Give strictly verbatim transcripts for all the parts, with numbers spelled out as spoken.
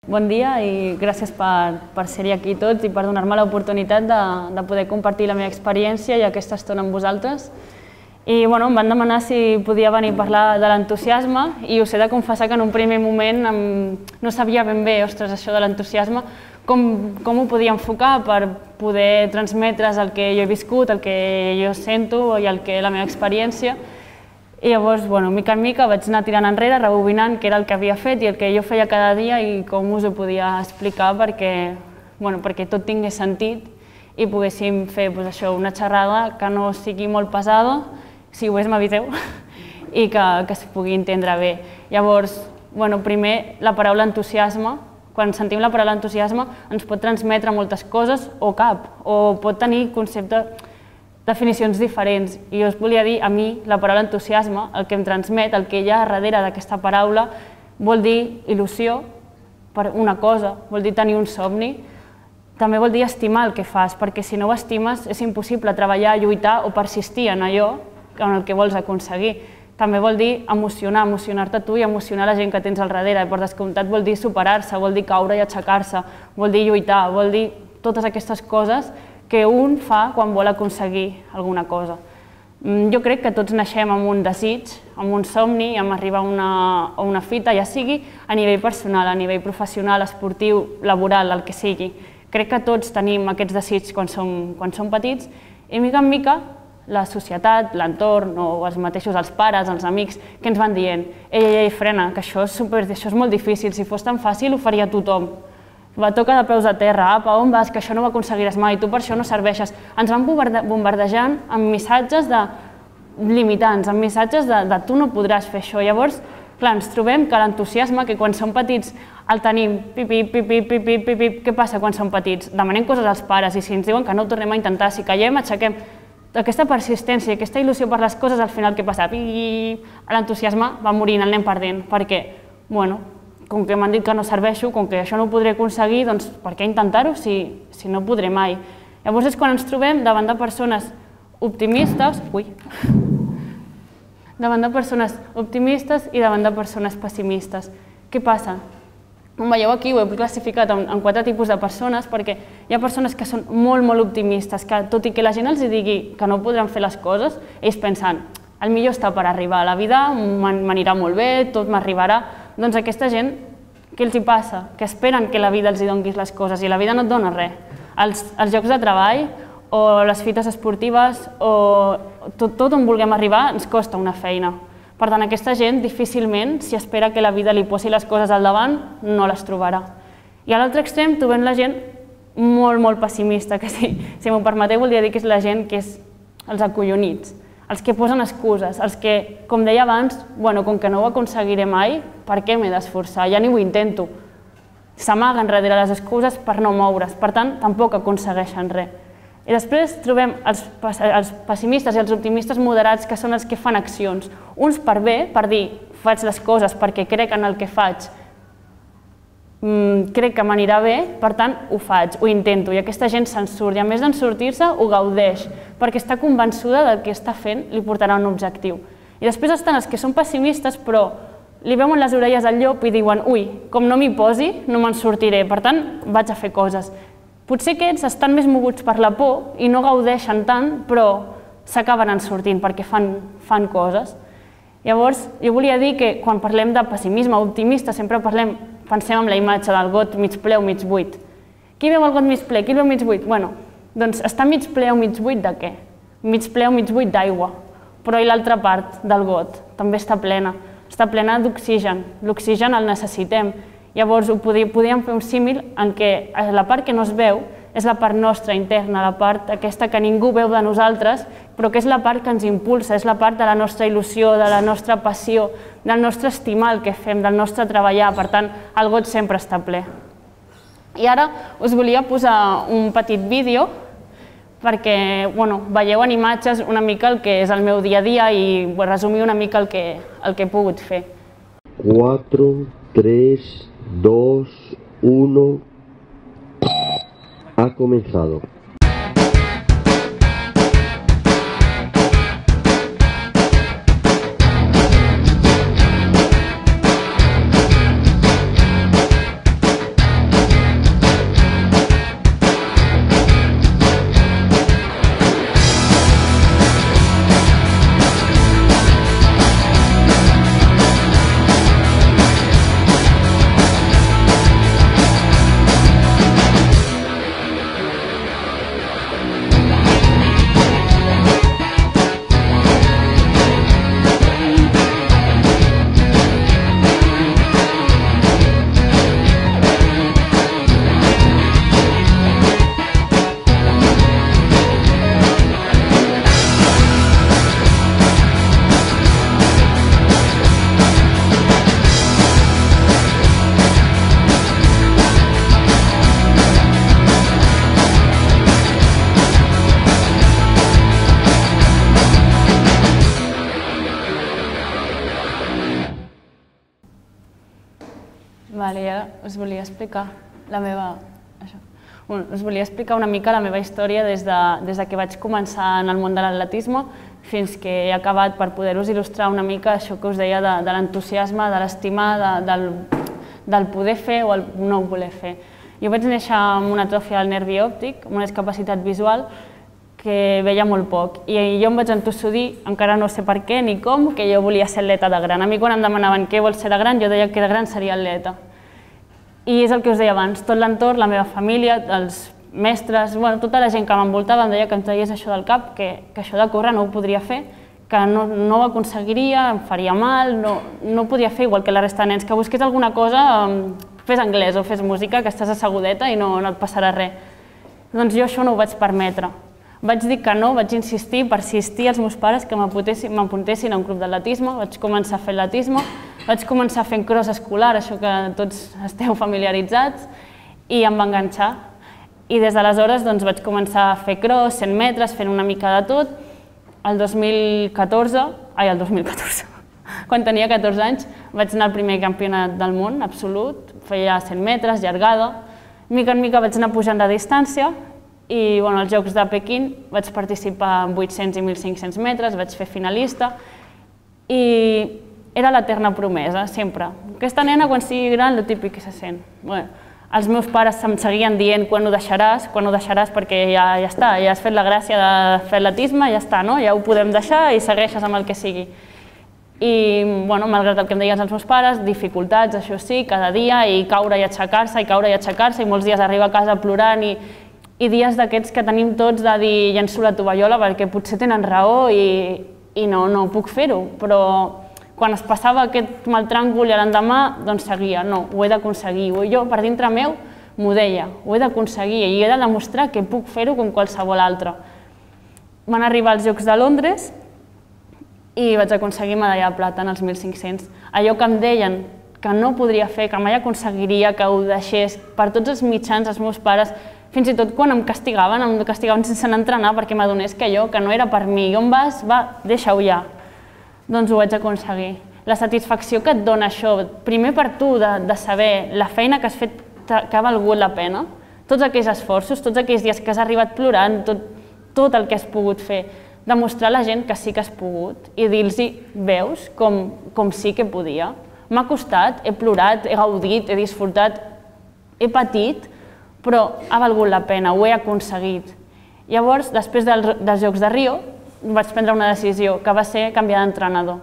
Bon dia i gràcies per, per ser-hi aquí tots i per donar-me l'oportunitat de, de poder compartir la meva experiència i aquesta estona amb vosaltres. I bueno, em van demanar si podia venir a parlar de l'entusiasme i us he de confessar que en un primer moment em, no sabia ben bé, ostres, això de l'entusiasme, com, com ho podia enfocar per poder transmetre's el que jo he viscut, el que jo sento i el que la meva experiència. I llavors, bueno, mica en mica vaig anar tirant enrere, rebobinant què era el que havia fet i el que jo feia cada dia i com us ho podia explicar perquè, bueno, perquè tot tingués sentit i poguéssim fer doncs, això, una xerrada que no sigui molt pesada, si ho és m'aviseu, i que, que es pugui entendre bé. Llavors, bueno, primer, la paraula entusiasme, quan sentim la paraula entusiasme ens pot transmetre moltes coses o cap, o pot tenir conceptes, definicions diferents. I jo us volia dir, a mi, la paraula entusiasme, el que em transmet, el que hi ha darrere d'aquesta paraula, vol dir il·lusió per una cosa, vol dir tenir un somni, també vol dir estimar el que fas, perquè si no ho estimes és impossible treballar, lluitar o persistir en allò en el que vols aconseguir. També vol dir emocionar, emocionar-te tu i emocionar la gent que tens al darrere. Per descomptat vol dir superar-se, vol dir caure i aixecar-se, vol dir lluitar, vol dir totes aquestes coses que un fa quan vol aconseguir alguna cosa. Jo crec que tots naixem amb un desig, amb un somni, amb arribar a una, a una fita, ja sigui a nivell personal, a nivell professional, esportiu, laboral, el que sigui. Crec que tots tenim aquests desigs quan som, quan som petits i mica en mica la societat, l'entorn o els mateixos els pares, els amics, que ens van dient ei, ei, ei, frena, que això és, super, això és molt difícil, si fos tan fàcil ho faria tothom. Va, toca de peus a terra, apa, on vas, que això no ho aconseguiràs mai, tu per això no serveixes. Ens van bombardejant amb missatges de limitants, amb missatges de, de tu no podràs fer això. Llavors, clar, ens trobem que l'entusiasme, que quan som petits el tenim, pipip, pipip, pipip, pipip, què passa quan som petits? Demanem coses als pares i si ens diuen que no ho tornem a intentar, si caiem, aixequem. Aquesta persistència, aquesta il·lusió per les coses, al final què passa? L'entusiasme va morint, el anem perdent, perquè, bueno, com que m'han dit que no serveixo, com que això no ho podré aconseguir, doncs per què intentar-ho si, si no podré mai? Llavors és quan ens trobem davant de persones optimistes, ui, davant de persones optimistes i davant de persones pessimistes. Què passa? Com veieu aquí ho he classificat en, en quatre tipus de persones perquè hi ha persones que són molt, molt optimistes, que tot i que la gent els digui que no podran fer les coses, ells pensen, el millor està per arribar a la vida, m'anirà molt bé, tot m'arribarà. Doncs aquesta gent, què els hi passa? Que esperen que la vida els doni les coses i la vida no et dona res. Els, els llocs de treball o les fites esportives o tot, tot on vulguem arribar ens costa una feina. Per tant, aquesta gent difícilment, si espera que la vida li posi les coses al davant, no les trobarà. I a l'altre extrem trobem la gent molt, molt pessimista, que si, si m'ho permeteu voldria dir que és la gent que és els acollonits. Els que posen excuses, els que, com deia abans, bueno, com que no ho aconseguiré mai, per què m'he d'esforçar? Ja ni ho intento. S'amaguen darrere les excuses per no moure's, per tant, tampoc aconsegueixen res. I després trobem els, els pessimistes i els optimistes moderats, que són els que fan accions. Uns per bé, per dir, faig les coses perquè crec en el que faig, crec que m'anirà bé, per tant, ho faig, ho intento, i aquesta gent se'n surt, i a més d'en sortir-se, ho gaudeix, perquè està convençuda del que està fent li portarà un objectiu. I després estan els que són pessimistes, però li veuen les orelles al llop i diuen ui, com no m'hi posi, no me'n sortiré, per tant, vaig a fer coses. Potser aquests estan més moguts per la por i no gaudeixen tant, però s'acaben en sortint perquè fan, fan coses. Llavors, jo volia dir que quan parlem de pessimisme o optimista sempre parlem, pensem en la imatge del got mig ple o mig buit. Qui veu el got mig ple? Qui el veu mig buit? Bueno, doncs està mig ple o mig buit de què? Mig ple o mig buit d'aigua. Però i l'altra part del got? També està plena. Està plena d'oxigen. L'oxigen el necessitem. Llavors podríem fer un símil en què la part que no es veu és la part nostra interna, la part aquesta que ningú veu de nosaltres, però que és la part que ens impulsa, és la part de la nostra il·lusió, de la nostra passió, del nostre estimar el que fem, del nostre treballar, per tant, el got sempre està ple. I ara us volia posar un petit vídeo perquè veieu en imatges una mica el que és el meu dia a dia i resumir una mica el que he pogut fer. cuatro, tres, dos, uno... Ha comenzado. Vale, ja us volia explicar la meva... Això. Bueno, us volia explicar una mica la meva història des de, des de que vaig començar en el món de l'atletisme fins que he acabat, per poder-vos il·lustrar una mica això que us deia de, de l'entusiasme, de l'estimar, de, del, del poder fer o el no voler fer. Jo vaig néixer amb una atròfia del nervi òptic, amb una discapacitat visual, que veia molt poc. I jo em vaig entossudir, encara no sé per què ni com, que jo volia ser atleta de gran. A mi quan em demanaven què vols ser de gran, jo deia que de gran seria atleta. I és el que us deia abans, tot l'entorn, la meva família, els mestres, bueno, tota la gent que m'envoltava em deia que em tragués això del cap, que, que això de córrer no ho podria fer, que no, no ho aconseguiria, em faria mal, no, no ho podia fer igual que la resta de nens, que busqués alguna cosa, fes anglès o fes música, que estàs assegudeta i no, no et passarà res. Doncs jo això no ho vaig permetre. Vaig dir que no, vaig insistir, persistir als meus pares que m'apuntessin a un club d'atletisme, vaig començar a fer atletisme, vaig començar fent cross escolar, això que tots esteu familiaritzats, i em va enganxar. I des d'aleshores doncs, vaig començar a fer cross, cent metres, fent una mica de tot. El dos mil catorze, ai, el dos mil catorze, quan tenia catorze anys, vaig anar al primer campionat del món absolut, feia cent metres, llargada. Mica en mica vaig anar pujant de distància, i bueno, als Jocs de Pequín vaig participar en vuit-cents i mil cinc-cents metres, vaig fer finalista i era l'eterna promesa, sempre. Aquesta nena, quan sigui gran, el típic que se sent. Bueno, els meus pares em seguien dient quan ho deixaràs, quan ho deixaràs perquè ja, ja està, ja has fet la gràcia de fer atletisme, ja està, no? Ja ho podem deixar i segueixes amb el que sigui. I, bueno, malgrat el que em deien els meus pares, dificultats, això sí, cada dia, i caure i aixecar-se, i caure i aixecar-se, i molts dies arribar a casa plorant, i i dies d'aquests que tenim tots de dir llenço la tovallola perquè potser tenen raó i, i no, no puc fer-ho, però quan es passava aquest mal tràngol i l'endemà, doncs seguia, no, ho he d'aconseguir. Jo per dintre meu m'ho deia, ho he d'aconseguir i he de demostrar que puc fer-ho com qualsevol altre. Van arribar als Jocs de Londres i vaig aconseguir medalla de plata en els mil cinc-cents. Allò que em deien que no podria fer, que mai aconseguiria, que ho deixés, per tots els mitjans, els meus pares, fins i tot quan em castigaven, em castigaven sense anar a entrenar perquè m'adonés que allò, que no era per mi. On vas? Va, deixa-ho ja. Doncs ho vaig aconseguir. La satisfacció que et dona això, primer per tu, de, de saber la feina que has fet que ha valgut la pena, tots aquells esforços, tots aquells dies que has arribat plorant, tot, tot el que has pogut fer, demostrar a la gent que sí que has pogut i dir-los, veus, com, com sí que podia. M'ha costat, he plorat, he gaudit, he disfrutat, he patit, però ha valgut la pena, ho he aconseguit. Llavors, després dels Jocs de Rio, vaig prendre una decisió, que va ser canviar d'entrenador.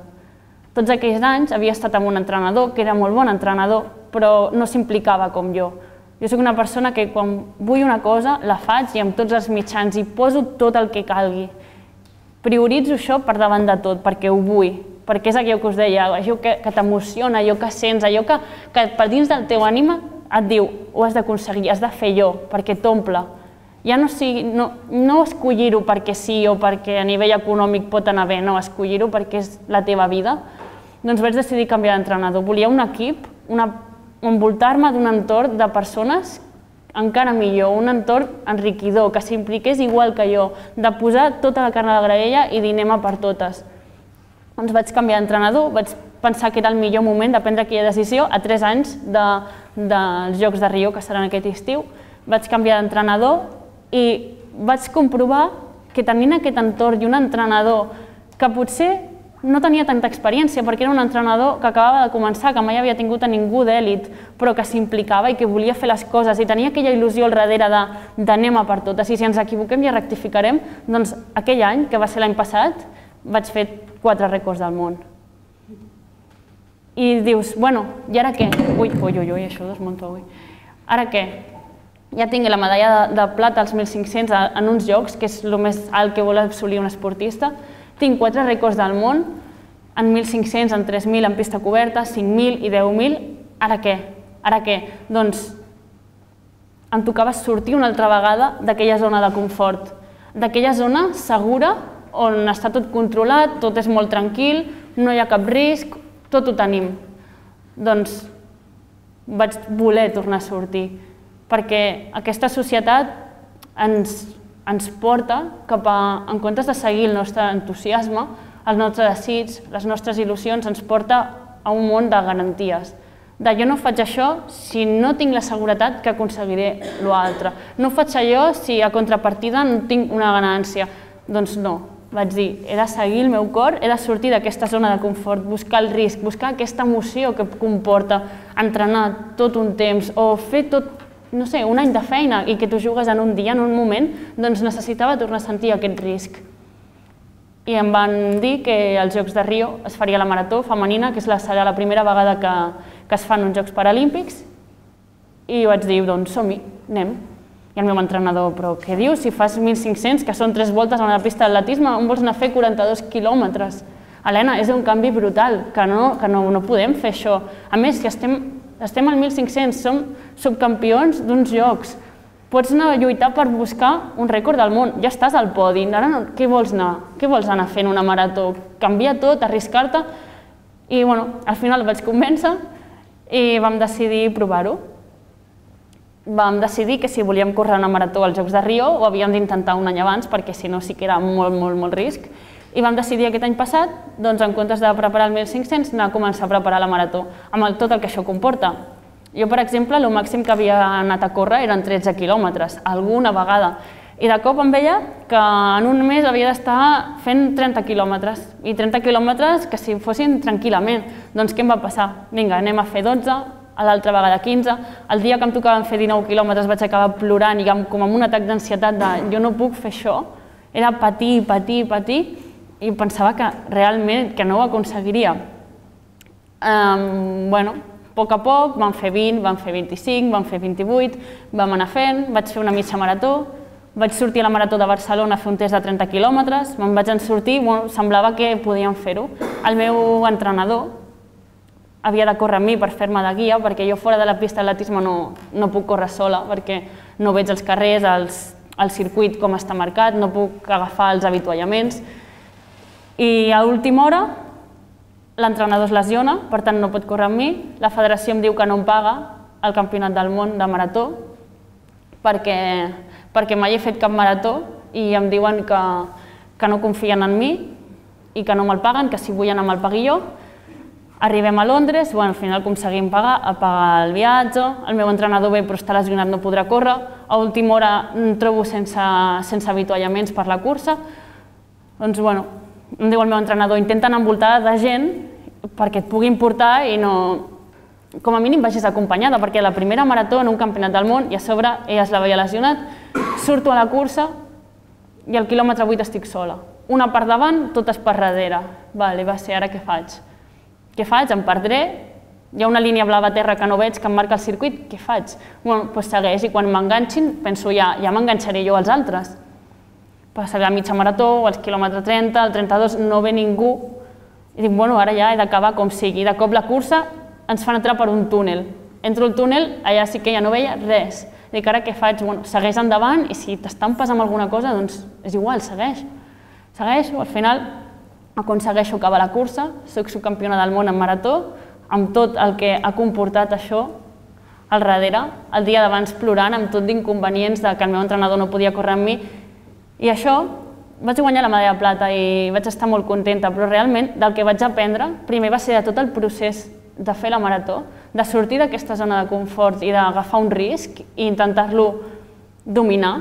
Tots aquells anys havia estat amb un entrenador, que era molt bon entrenador, però no s'implicava com jo. Jo soc una persona que quan vull una cosa, la faig i amb tots els mitjans, i poso tot el que calgui. Prioritzo això per davant de tot, perquè ho vull, perquè és allò que us deia, allò que t'emociona, allò que sents, allò que per dins del teu ànima et diu, ho has d'aconseguir, has de fer jo, perquè t'omple. Ja no, no, no escollir-ho perquè sí o perquè a nivell econòmic pot anar bé, no, escollir-ho perquè és la teva vida. Doncs vaig decidir canviar d'entrenador. Volia un equip, una, envoltar-me d'un entorn de persones encara millor, un entorn enriquidor, que s'impliqués igual que jo, de posar tota la carn a la graella i dir anem a per totes. Doncs vaig canviar d'entrenador, vaig pensar que era el millor moment de prendre aquella decisió a tres anys de, dels Jocs de Rio, que seran aquest estiu. Vaig canviar d'entrenador i vaig comprovar que tenint aquest entorn i un entrenador que potser no tenia tanta experiència perquè era un entrenador que acabava de començar, que mai havia tingut a ningú d'èlit, però que s'implicava i que volia fer les coses i tenia aquella il·lusió al darrere d'anem a per totes i si ens equivoquem ja rectificarem, doncs aquell any, que va ser l'any passat, vaig fer quatre rècords del món. I dius, bueno, i ara què? Ui, ui, ui, això desmunto avui. Ara què? Ja tinc la medalla de plata als mil cinc-cents en uns jocs, que és el més alt que vol assolir un esportista. Tinc quatre rècords del món, en mil cinc-cents, en tres mil, en pista coberta, cinc mil i deu mil. Ara què? Ara què? Doncs em tocava sortir una altra vegada d'aquella zona de confort, d'aquella zona segura on està tot controlat, tot és molt tranquil, no hi ha cap risc, tot ho tenim. Doncs vaig voler tornar a sortir, perquè aquesta societat ens, ens porta cap a, en comptes de seguir el nostre entusiasme, el nostre desig, les nostres il·lusions, ens porta a un món de garanties, de jo no faig això si no tinc la seguretat que aconseguiré l'altre. No faig allò si a contrapartida no tinc una ganància. Doncs no, vaig dir, he de seguir el meu cor, he de sortir d'aquesta zona de confort, buscar el risc, buscar aquesta emoció que comporta entrenar tot un temps o fer tot, no sé, un any de feina i que tu jugues en un dia, en un moment, doncs necessitava tornar a sentir aquest risc. I em van dir que als Jocs de Rio es faria la marató femenina, que serà la primera vegada que, que es fan uns Jocs Paralímpics, i vaig dir, doncs som-hi, anem. I el meu entrenador, però què dius? Si fas mil cinc-cents, que són tres voltes a la pista d'atletisme, on vols anar a fer quaranta-dos quilòmetres? Helena, és un canvi brutal, que no, que no, no podem fer això. A més, si estem, estem al mil cinc-cents, som subcampions d'uns Jocs, pots anar a lluitar per buscar un rècord del món, ja estàs al podi, ara no, què vols anar? Què vols anar fent una marató? Canviar tot, arriscar-te? I bueno, al final el vaig convèncer i vam decidir provar-ho. Vam decidir que si volíem córrer una marató als Jocs de Rio ho havíem d'intentar un any abans perquè si no sí que era molt, molt, molt risc. I vam decidir aquest any passat, doncs en comptes de preparar el mil cinc-cents, anar a començar a preparar la marató, amb el, tot el que això comporta. Jo, per exemple, el màxim que havia anat a córrer eren tretze quilòmetres, alguna vegada. I de cop em veia que en un mes havia d'estar fent trenta quilòmetres. I trenta quilòmetres que si fossin tranquil·lament. Doncs què em va passar? Vinga, anem a fer dotze, a l'altra vegada quinze. El dia que em tocaven fer dinou quilòmetres vaig acabar plorant i com amb un atac d'ansietat de jo no puc fer això. Era patir, patir, patir i pensava que realment que no ho aconseguiria. Um, bueno, a poc a poc vam fer vint, vam fer vint-i-cinc, vam fer vint-i-vuit, vam anar fent, vaig fer una mitja marató, vaig sortir a la marató de Barcelona a fer un test de trenta quilòmetres, me'n vaig en sortir, bueno, semblava que podíem fer-ho. El meu entrenador havia de córrer amb mi per fer-me de guia, perquè jo fora de la pista d'atletisme no, no puc córrer sola, perquè no veig els carrers, els, el circuit com està marcat, no puc agafar els avituallaments. I a última hora l'entrenador es lesiona, per tant no pot córrer amb mi, la federació em diu que no em paga el campionat del món de marató perquè, perquè mai he fet cap marató i em diuen que, que no confien en mi i que no me'l paguen, que si vull anar me'l pagui jo. Arribem a Londres, bueno, al final aconseguim pagar, pagar el viatge, el meu entrenador ve però està lesionat, no podrà córrer, a última hora em trobo sense, sense avituallaments per la cursa, doncs bueno, em diu el meu entrenador, intenta anar envoltada de gent perquè et puguin portar i no, com a mínim vagis acompanyada, perquè la primera marató en un campionat del món i a sobre ella es l'havia lesionat, surto a la cursa i al quilòmetre vuit estic sola. Una per davant, totes per darrere. Vale, va ser, ara què faig? Què faig? Em perdré? Hi ha una línia blava a terra que no veig, que em marca el circuit, què faig? Bueno, doncs segueix i quan m'enganxin penso ja, ja m'enganxaré jo als altres. Passaré la mitja marató, els quilòmetre trenta, el trenta-dos, no ve ningú. I dic, bueno, ara ja he d'acabar com sigui. De cop la cursa ens fan entrar per un túnel. Entro al túnel, allà sí que ja no veia res. Dic, ara què faig? Bueno, segueix endavant i si t'estampes amb alguna cosa, doncs és igual, segueix. Segueixo, al final aconsegueixo acabar la cursa, soc subcampiona del món en marató, amb tot el que ha comportat això al darrere, el dia d'abans plorant amb tot d'inconvenients de que el meu entrenador no podia córrer amb mi. I això, vaig guanyar la medalla de plata i vaig estar molt contenta, però realment del que vaig aprendre, primer va ser de tot el procés de fer la marató, de sortir d'aquesta zona de confort i d'agafar un risc i intentar-lo dominar,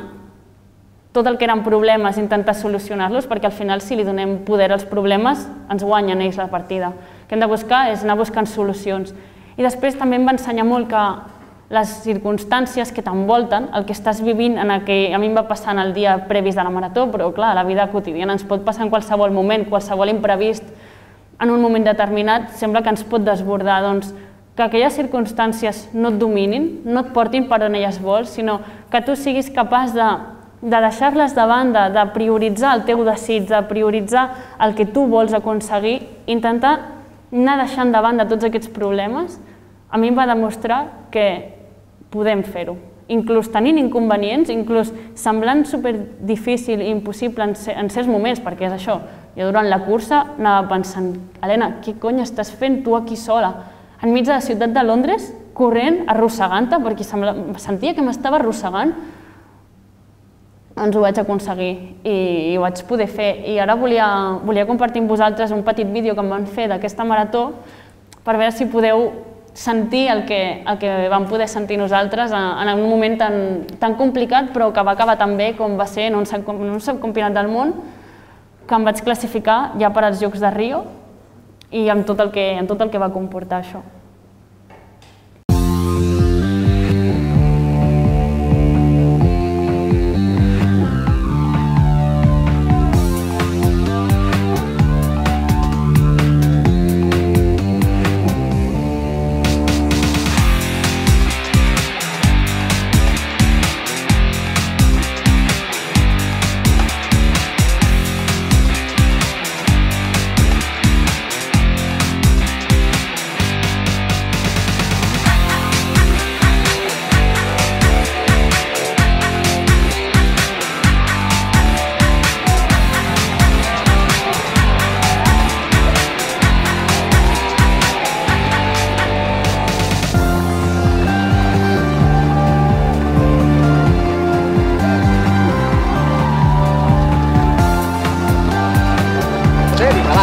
tot el que eren problemes, intentar solucionar-los, perquè al final si li donem poder als problemes ens guanyen ells la partida. El que hem de buscar és anar buscant solucions. I després també em va ensenyar molt que les circumstàncies que t'envolten, el que estàs vivint, en el que a mi em va passar en el dia previs de la marató, però clar, la vida quotidiana ens pot passar en qualsevol moment, qualsevol imprevist, en un moment determinat, sembla que ens pot desbordar, doncs que aquelles circumstàncies no et dominin, no et portin per on elles vols, sinó que tu siguis capaç de, de deixar-les de banda, de prioritzar el teu desig, de prioritzar el que tu vols aconseguir, intentar anar deixant de banda tots aquests problemes, a mi em va demostrar que podem fer-ho. Inclús tenint inconvenients, inclús semblant superdifícil i impossible en certs moments, perquè és això, jo durant la cursa anava pensant, Helena, què cony estàs fent tu aquí sola? Enmig de la ciutat de Londres, corrent, arrossegant-te, perquè sentia que m'estava arrossegant, doncs ho vaig aconseguir i ho vaig poder fer. I ara volia compartir amb vosaltres un petit vídeo que em van fer d'aquesta marató per veure si podeu sentir el que vam poder sentir nosaltres en un moment tan complicat, però que va acabar tan bé com va ser en un subcampionat del món, que em vaig classificar ja per als Jocs de Rio i amb tot el que va comportar això.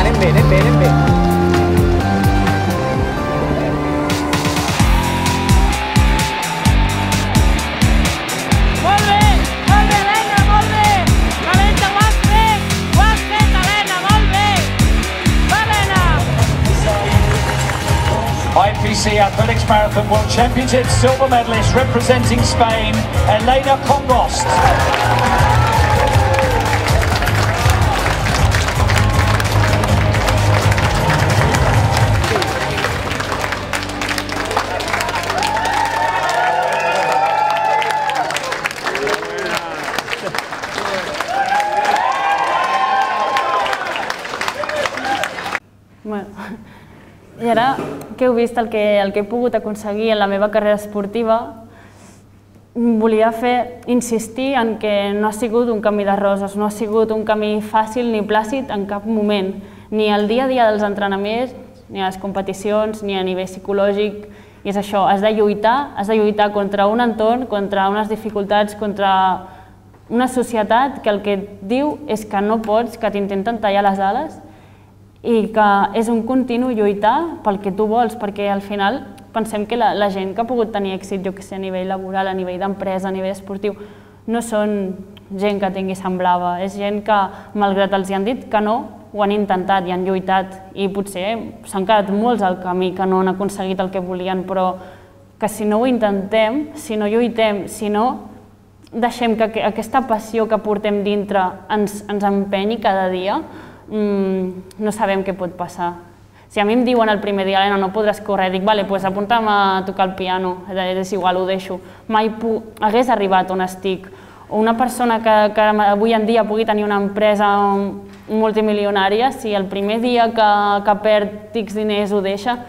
Anem bé, anem bé, anem bé. Molt bé, molt bé, Helena, molt bé. Calenta, ho has fet, ho has fet, Helena, molt bé. Va, Helena. I P C Athletics Marathon World Championship silver medalist representing Spain, Helena Congost. I ara que heu vist el que he pogut aconseguir en la meva carrera esportiva, volia fer insistir en que no ha sigut un camí de roses, no ha sigut un camí fàcil ni plàcid en cap moment, ni el dia a dia dels entrenaments, ni a les competicions, ni a nivell psicològic. I és això, has de lluitar, has de lluitar contra un entorn, contra unes dificultats, contra una societat que el que et diu és que no pots, que t'intenten tallar les ales, i que és un continu lluitar pel que tu vols, perquè al final pensem que la gent que ha pogut tenir èxit, jo que sé, a nivell laboral, a nivell d'empresa, a nivell esportiu, no són gent que tingui sang blava, és gent que, malgrat els hi han dit que no, ho han intentat i han lluitat, i potser s'han quedat molts al camí que no han aconseguit el que volien, però que si no ho intentem, si no lluitem, si no deixem que aquesta passió que portem dintre ens empenyi cada dia, no sabem què pot passar. Si a mi em diuen el primer dia, Helena, no podràs córrer, dic, vale, doncs apunta'm a tocar el piano, és igual, ho deixo. Mai hagués arribat on estic. O una persona que avui en dia pugui tenir una empresa multimilionària, si el primer dia que perd X diners ho deixa,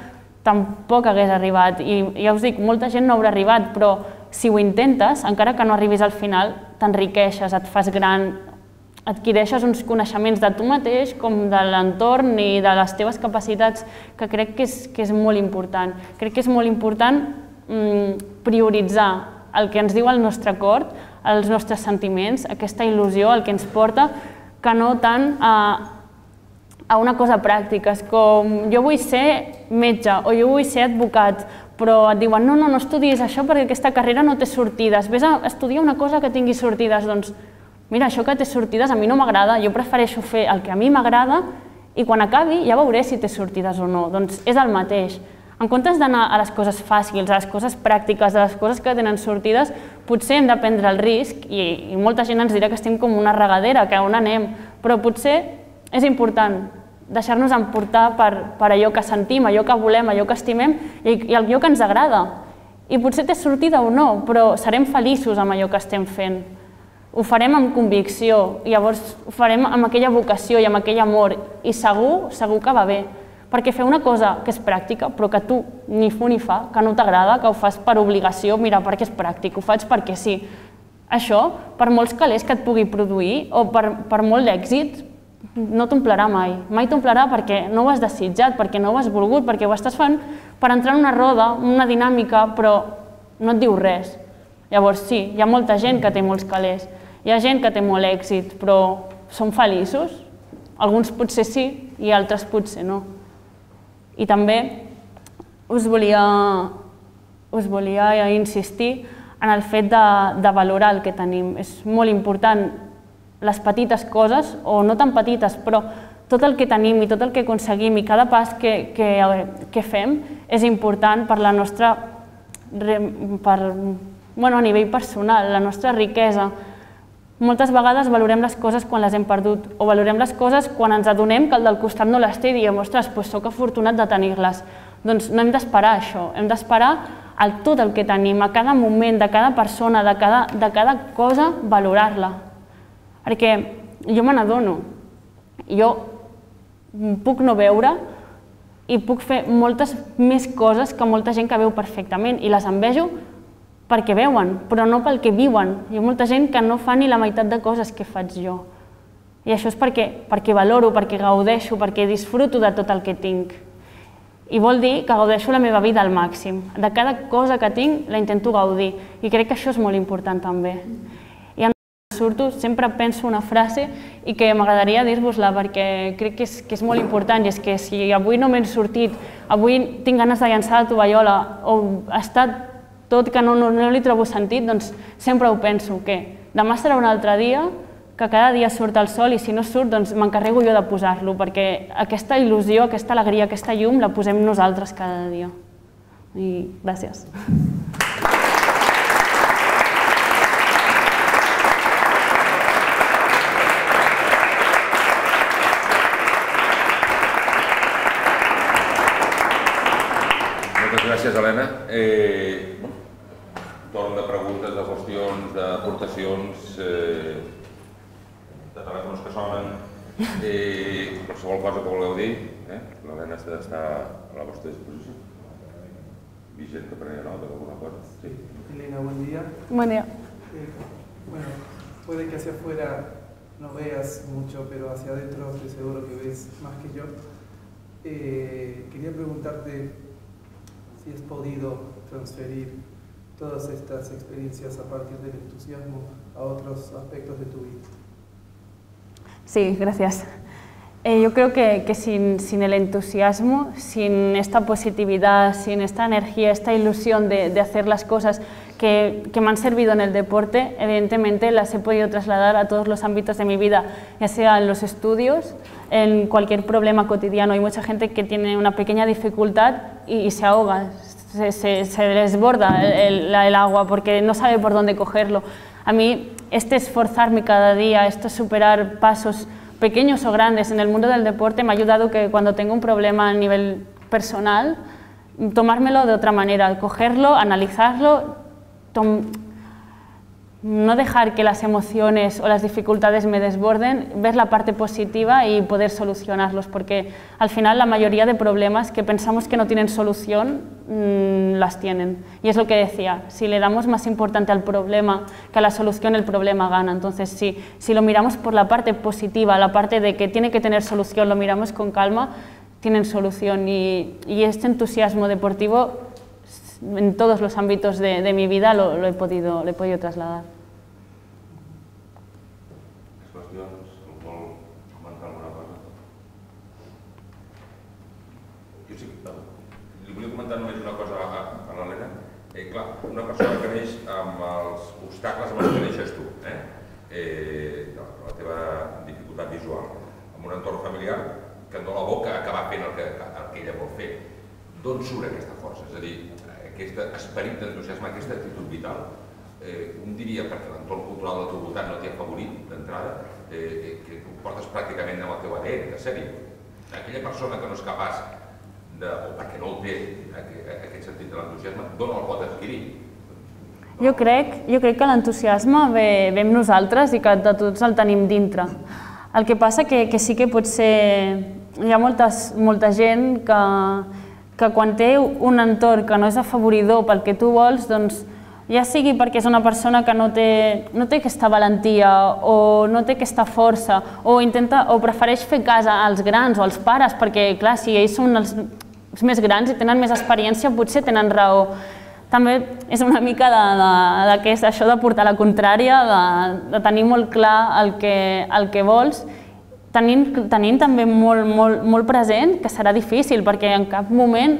tampoc hagués arribat. I ja us dic, molta gent no haurà arribat, però si ho intentes, encara que no arribis al final, t'enriqueixes, et fas gran, adquireixes uns coneixements de tu mateix com de l'entorn i de les teves capacitats, que crec que és molt important. Crec que és molt important prioritzar el que ens diu el nostre cor, els nostres sentiments, aquesta il·lusió, el que ens porta, que no tant a una cosa pràctica. És com, jo vull ser metge o jo vull ser advocat, però et diuen, no, no, no estudis això perquè aquesta carrera no té sortides. Vés a estudiar una cosa que tingui sortides. Doncs, mira, això que té sortides a mi no m'agrada, jo prefereixo fer el que a mi m'agrada i quan acabi ja veuré si té sortides o no. Doncs és el mateix. En comptes d'anar a les coses fàcils, a les coses pràctiques, a les coses que tenen sortides, potser hem de prendre el risc, i molta gent ens dirà que estem com una regadera, que on anem, però potser és important deixar-nos emportar per allò que sentim, allò que volem, allò que estimem i allò que ens agrada. I potser té sortida o no, però serem feliços amb allò que estem fent. Ho farem amb convicció, i llavors ho farem amb aquella vocació i amb aquell amor, i segur, segur que va bé. Perquè fer una cosa que és pràctica, però que tu ni fu ni fa, que no t'agrada, que ho fas per obligació, mira, perquè és pràctic, ho faig perquè sí. Això, per molts calés que et pugui produir, o per molt d'èxit, no t'omplirà mai. Mai t'omplirà perquè no ho has desitjat, perquè no ho has volgut, perquè ho estàs fent per entrar en una roda, una dinàmica, però no et diu res. Llavors sí, hi ha molta gent que té molts calés, hi ha gent que té molt èxit, però són feliços? Alguns potser sí i altres potser no. I també us volia, us volia insistir en el fet de, de valorar el que tenim. És molt important les petites coses, o no tan petites, però tot el que tenim i tot el que aconseguim i cada pas que, que, que fem és important per la nostra, per, bueno, a nivell personal, la nostra riquesa. Moltes vegades valorem les coses quan les hem perdut, o valorem les coses quan ens adonem que el del costat no les té i diem, ostres, doncs soc afortunat de tenir-les. Doncs no hem d'esperar això, hem d'esperar el tot el que tenim, a cada moment, de cada persona, de cada, de cada cosa, valorar-la. Perquè jo me n'adono, jo puc no veure i puc fer moltes més coses que molta gent que veu perfectament i les envejo perquè veuen, però no pel que viuen. Hi ha molta gent que no fa ni la meitat de coses que faig jo. I això és perquè, perquè valoro, perquè gaudeixo, perquè disfruto de tot el que tinc. I vol dir que gaudeixo la meva vida al màxim. De cada cosa que tinc la intento gaudir i crec que això és molt important també. I quan surto sempre penso una frase i que m'agradaria dir-vos-la perquè crec que és, que és molt important, i és que si avui no m'he sortit, avui tinc ganes de llançar la tovallola o ha estat tot que no, no, no li trobo sentit, doncs sempre ho penso, que demà serà un altre dia, que cada dia surt el sol i si no surt doncs m'encarrego jo de posar-lo, perquè aquesta il·lusió, aquesta alegria, aquesta llum la posem nosaltres cada dia. I gràcies. Moltes gràcies, Helena. Eh, torn de preguntes, de qüestions, d'aportacions, eh, de telèfons que sonen, eh, qualsevol cosa que vulgueu dir, eh? L'Helena està, està a la vostra disposició. Vigent que prenia nota d'alguna cosa. Sí. Elena, buen día. Buen día. Eh, bueno, puede que hacia afuera no veas mucho, pero hacia adentro estoy seguro que ves más que yo. Eh, quería preguntarte si has podido transferir todas estas experiencias a partir del entusiasmo a otros aspectos de tu vida. Sí, gracias. Eh, yo creo que, que sin, sin el entusiasmo, sin esta positividad, sin esta energía, esta ilusión de, de hacer las cosas que, que me han servido en el deporte, evidentemente las he podido trasladar a todos los ámbitos de mi vida, ya sea en los estudios, en cualquier problema cotidiano. Hay mucha gente que tiene una pequeña dificultad y, y se ahoga, se, se, se desborda el, el, el agua porque no sabe por dónde cogerlo. A mí, este esforzarme cada día, esto superar pasos pequeños o grandes en el mundo del deporte me ha ayudado que cuando tengo un problema a nivel personal, tomármelo de otra manera, cogerlo, analizarlo, no dejar que las emociones o las dificultades me desborden, ver la parte positiva y poder solucionarlos, porque al final la mayoría de problemas que pensamos que no tienen solución, mmm, las tienen. Y es lo que decía, si le damos más importancia al problema que a la solución, el problema gana. Entonces, si, si lo miramos por la parte positiva, la parte de que tiene que tener solución, lo miramos con calma, tienen solución. Y, y este entusiasmo deportivo en todos los ámbitos de, de mi vida lo, lo, he podido, lo he podido trasladar. Jo sí, li volia comentar només una cosa a, a l'Helena. Eh, clar, una persona que neix amb els obstacles amb els que neixes tu, eh? Eh, la teva dificultat visual, amb un entorn familiar que et dona la boca a acabar fent el que, el que ella vol fer. D'on surt aquesta força? És a dir, aquest esperit d'entusiasme, aquesta actitud vital, eh, un diria perquè l'entorn cultural del teu voltant no t'hi ha favorit d'entrada, eh, que ho portes pràcticament amb el teu A D N, de sèrie. Aquella persona que no és capaç de, o perquè no el té, aquest sentit de l'entusiasme, d'on el pot adquirir? Jo crec, jo crec que l'entusiasme ve, ve amb nosaltres i que de tots el tenim dintre. El que passa que, que sí que pot ser... Hi ha moltes, molta gent que, que quan té un entorn que no és afavoridor pel que tu vols, doncs ja sigui perquè és una persona que no té, no té aquesta valentia o no té aquesta força o, intenta, o prefereix fer cas als grans o als pares perquè, clar, si ells són els, els més grans i tenen més experiència, potser tenen raó. També és una mica de, de, de que és això de portar la contrària, de, de tenir molt clar el que, el que vols, tenint, tenint també molt, molt, molt present que serà difícil perquè en cap moment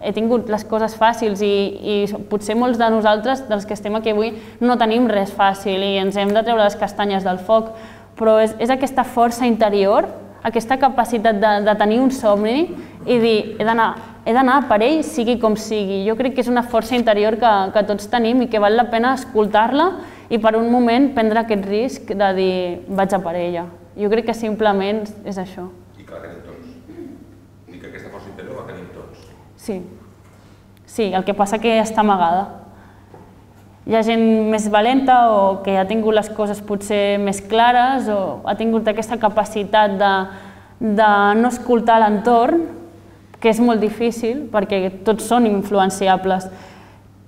he tingut les coses fàcils i potser molts de nosaltres, dels que estem aquí avui, no tenim res fàcil i ens hem de treure les castanyes del foc, però és aquesta força interior, aquesta capacitat de tenir un somni i dir, he d'anar per ell, sigui com sigui. Jo crec que és una força interior que tots tenim i que val la pena escoltar-la i per un moment prendre aquest risc de dir, vaig a per ella. Jo crec que simplement és això. I que la tenim tots. I que aquesta força interior la tenim tots. Sí. Sí, el que passa que està amagada. Hi ha gent més valenta o que ha tingut les coses potser més clares o ha tingut aquesta capacitat de no escoltar l'entorn, que és molt difícil perquè tots són influenciables.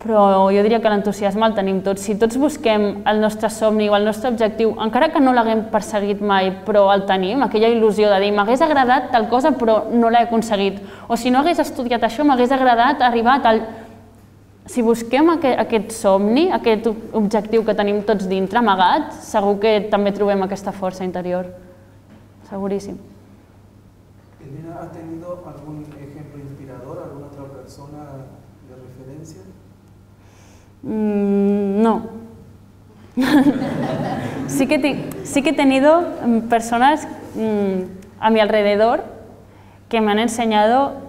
Però jo diria que l'entusiasme el tenim tots. Si tots busquem el nostre somni o el nostre objectiu, encara que no l'haguem perseguit mai, però el tenim, aquella il·lusió de dir m'hagués agradat tal cosa però no l'he aconseguit. O si no hagués estudiat això, m'hagués agradat arribar a tal... Si busquem aquest somni, aquest objectiu que tenim tots dintre, amagat, segur que també trobem aquesta força interior. Seguríssim. Elena, ¿has tenido algún ejemplo inspirador, alguna otra persona de referencia? No. Sí que he tenido personas a mi alrededor que me han enseñado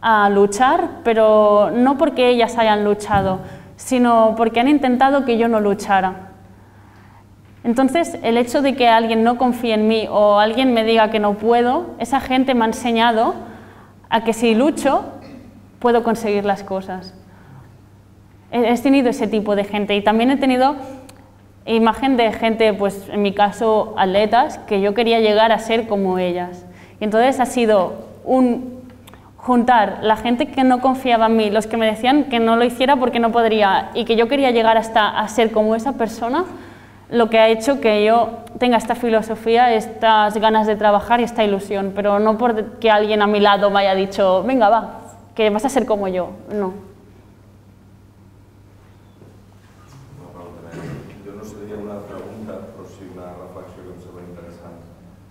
a luchar, pero no porque ellas hayan luchado, sino porque han intentado que yo no luchara. Entonces, el hecho de que alguien no confíe en mí o alguien me diga que no puedo, esa gente me ha enseñado a que si lucho, puedo conseguir las cosas. He tenido ese tipo de gente y también he tenido imagen de gente, pues en mi caso, atletas, que yo quería llegar a ser como ellas. Y entonces ha sido un... juntar la gente que no confiaba en mí, los que me decían que no lo hiciera porque no podría y que yo quería llegar hasta a ser como esa persona, lo que ha hecho que yo tenga esta filosofía, estas ganas de trabajar y esta ilusión, pero no porque alguien a mi lado me haya dicho, venga, va, que vas a ser como yo, no. Jo no seria una pregunta, però sí una reflexió que em sembla interessant.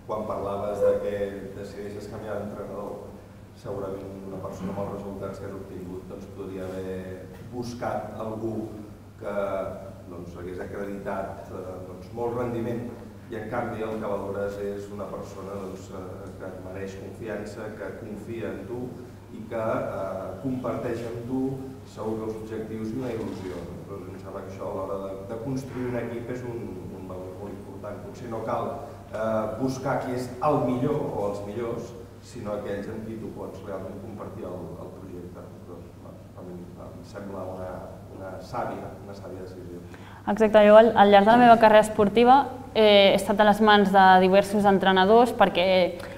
Quan parlaves de que decideixes canviar d'entrenador, segurament una persona amb els resultats que has obtingut doncs, podria haver buscat algú que doncs, hagués acreditat doncs, molt rendiment i en canvi el que valores és una persona doncs, que et mereix confiança, que confia en tu i que eh, comparteix amb tu segur que els objectius i una il·lusió. Doncs em sembla que això a l'hora de, de construir un equip és un, un valor molt important. Potser no cal eh, buscar qui és el millor o els millors, sinó aquells amb qui tu pots realment compartir el, el projecte. Doncs, a mi em sembla una, una sàvia, una sàvia decisió. Exacte, jo al, al llarg de la meva carrera esportiva eh, he estat a les mans de diversos entrenadors perquè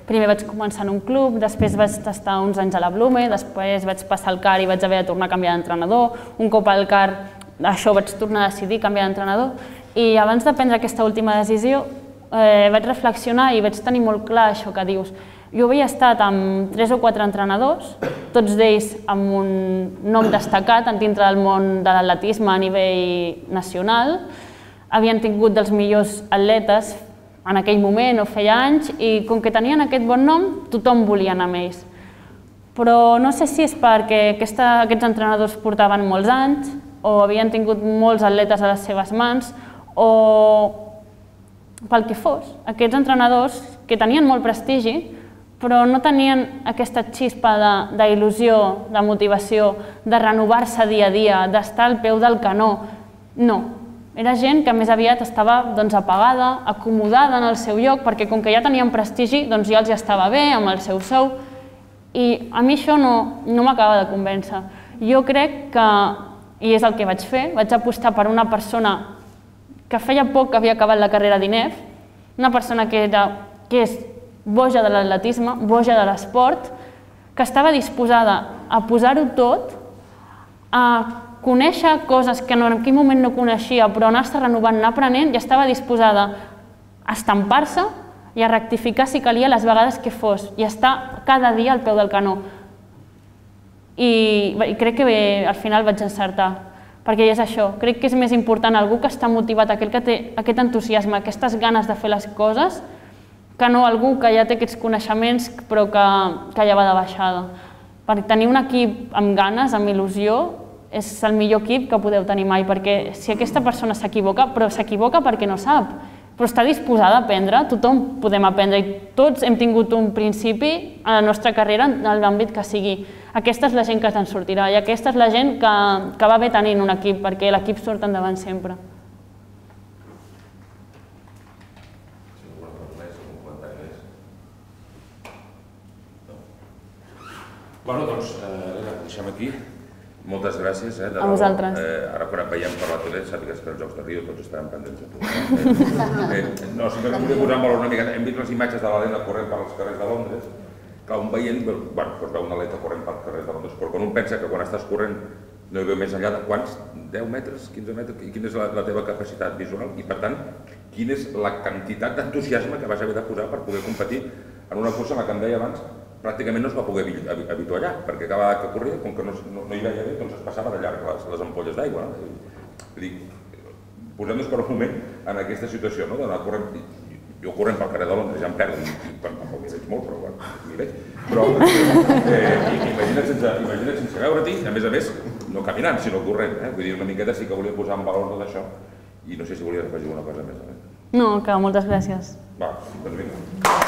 primer vaig començar en un club, després vaig estar uns anys a la Blume, després vaig passar al C A R i vaig haver de tornar a canviar d'entrenador, un cop al C A R això vaig tornar a decidir canviar d'entrenador i abans de prendre aquesta última decisió eh, vaig reflexionar i vaig tenir molt clar això que dius. Jo havia estat amb tres o quatre entrenadors, tots d'ells amb un nom destacat dintre del món de l'atletisme a nivell nacional. Havien tingut dels millors atletes en aquell moment o feia anys i com que tenien aquest bon nom, tothom volia anar amb ells. Però no sé si és perquè aquesta, aquests entrenadors portaven molts anys o havien tingut molts atletes a les seves mans o pel que fos. Aquests entrenadors que tenien molt prestigi però no tenien aquesta xispa d'il·lusió, de motivació, de renovar-se dia a dia, d'estar al peu del canó. No, era gent que més aviat estava apagada, acomodada en el seu lloc, perquè com que ja tenien prestigi, doncs ja els estava bé amb el seu sou, i a mi això no m'acaba de convèncer. Jo crec que, i és el que vaig fer, vaig apostar per una persona que feia poc que havia acabat la carrera d'I N E F, una persona que és boja de l'atletisme, boja de l'esport, que estava disposada a posar-ho tot, a conèixer coses que en aquell moment no coneixia, però anar-se renovant, anar aprenent, i estava disposada a estampar-se i a rectificar si calia les vegades que fos, i estar cada dia al peu del canó. I crec que al final vaig encertar, perquè és això, crec que és més important algú que està motivat, aquell que té aquest entusiasme, aquestes ganes de fer les coses, que no algú que ja té aquests coneixements però que ja va de baixada. per tenir un equip amb ganes, amb il·lusió, és el millor equip que podeu tenir mai, perquè si aquesta persona s'equivoca, però s'equivoca perquè no sap, però està disposada a aprendre, tothom podem aprendre i tots hem tingut un principi a la nostra carrera en l'àmbit que sigui. Aquesta és la gent que te'n sortirà i aquesta és la gent que, que va bé tenint un equip, perquè l'equip surt endavant sempre. Bueno, doncs, Elena, ho deixem aquí. Moltes gràcies. Eh, a vosaltres. Eh, ara quan et veiem per la tele, sàpigues que els Jocs de Rio tots estaran pendents de tu. Eh? Eh, no, simplement volia posar en valor una mica. Hem vist les imatges de l'Helena corrent per als carrers de Londres. Clar, un veient, bueno, doncs veu una atleta corrent pels carrers de Londres, però quan un pensa que quan estàs corrent no hi veu més enllà de quants? deu metres, quinze metres? I quina és la, la teva capacitat visual? I per tant, quina és la quantitat d'entusiasme que vas haver de posar per poder competir en una cursa en la que em deia abans pràcticament no es va poder avituallar, perquè cada vegada que corria, com que no, no, no hi veia bé, doncs es passava de llarg les, les ampolles d'aigua. No? Dic, posem-nos per un moment en aquesta situació, no? D'anar corrent, jo corrent pel carrer de Londres ja em perdo, tampoc m'hi veig molt, però bueno, m'hi veig. Però eh, imagina't sense, imagina't sense veure-t'hi, a més a més, no caminant, sinó corrent. Eh? Vull dir, una miqueta sí que volia posar en valor tot això i no sé si volia afegir una cosa més. Eh? No, que moltes gràcies. Va, doncs vinga.